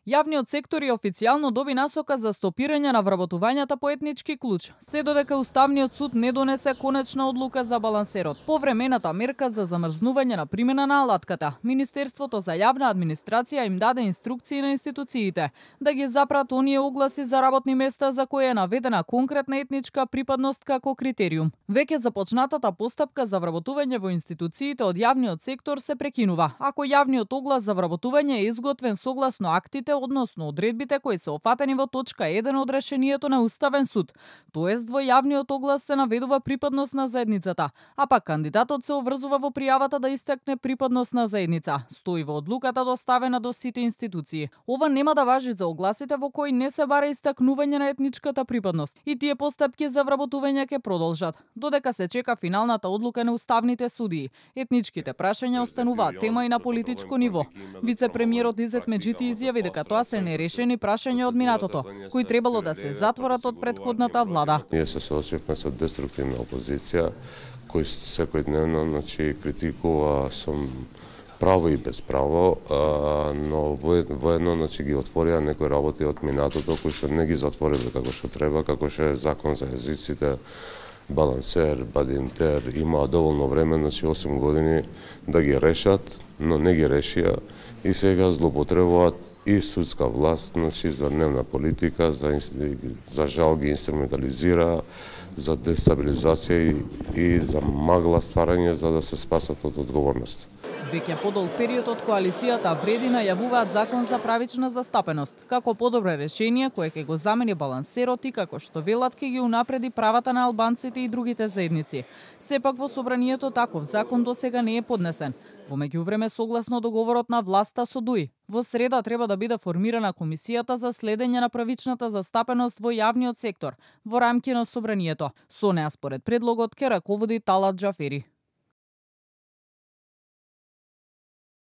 Јавниот сектор ја официјално доби насока за стопирање на вработувањата по етнички клуч, се додека Уставниот суд не донесе конечна одлука за балансерот. Повремената мерка за замрзнување на примена на алатката, Министерството за јавна администрација им даде инструкции на институциите да ги запрат оние огласи за работни места за кои е наведена конкретна етничка припадност како критериум. Веќе започнатата постапка за вработување во институциите од јавниот сектор се прекинува, ако јавниот оглас за вработување е изготвен согласно актите, односно одредбите кои се офатени во точка 1 од решението на Уставен суд. Тоест, во јавниот оглас се наведува припадност на заедницата, а пак кандидатот се обврзува во пријавата да истакне припадност на заедница. Стои во одлуката доставена до сите институции. Ова нема да важи за огласите во кои не се бара истакнување на етничката припадност. И тие постапки за вработување ќе продолжат, додека се чека финалната одлука на уставните судии. Етничките прашања остануваат тема и на политичко ниво. Вице-премиерот Изет Меджити изјави дека тоа се нерешени прашања од минатото, кои требало да се затворат од претходната влада. Ние се соочивме со деструктивна опозиција, кој секојдневно критикува со право и без право, но воедно ги отворија некои работи од минатото кои што не ги затвориле како што треба, како што е закон за езиците, балансер, бадинтер, имаа доволно време, 8 години да ги решат, но не ги решија и сега злоупотребуваат и судска власт, за дневна политика, за жал ги инструментализира, за дестабилизација и за магла стварање за да се спасат од одговорност. Веќе подолг период од коалицијата вреди најавуваат закон за правична застапеност, како подобро решение кое ќе го замени балансерот и како што велат ќе ги унапреди правата на албанците и другите заедници. Сепак во собранието таков закон досега не е поднесен. Во меѓувреме, согласно договорот на власта со ДУИ, во среда треба да биде формирана комисијата за следење на правичната застапеност во јавниот сектор во рамки на собранието. Со неа според предлогот ќе раководи Талат Џафери.